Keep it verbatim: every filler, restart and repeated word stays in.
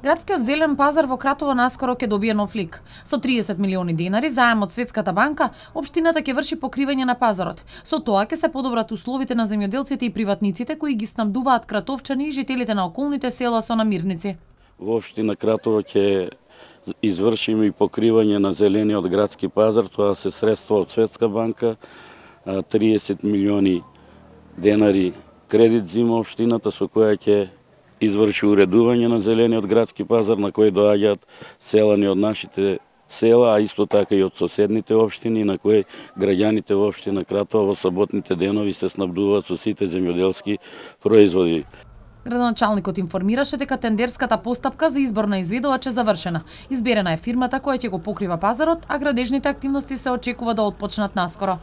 Градскиот зелен пазар во Кратово наскоро ќе добие нов лик. Со триесет милиони денари заем од Светската банка, општината ќе врши покривање на пазарот. Со тоа ќе се подобрат условите на земјоделците и приватниците кои ги снабдуваат кратовчани и жителите на околните села со намирници. Во општина Кратово ќе извршиме и покривање на зелениот градски пазар, тоа се средства од Светска банка, триесет милиони денари кредит зима општината со која ќе изврши уредување на зелениот градски пазар на кој доаѓаат селани од нашите села, а исто така и од соседните општини на кои граѓаните во општина Кратово во саботните денови се снабдуваат со сите земјоделски производи. Градоначалникот информираше дека тендерската постапка за избор на изведувач е завршена. Изберена е фирмата која ќе го покрива пазарот, а градежните активности се очекува да отпочнат наскоро.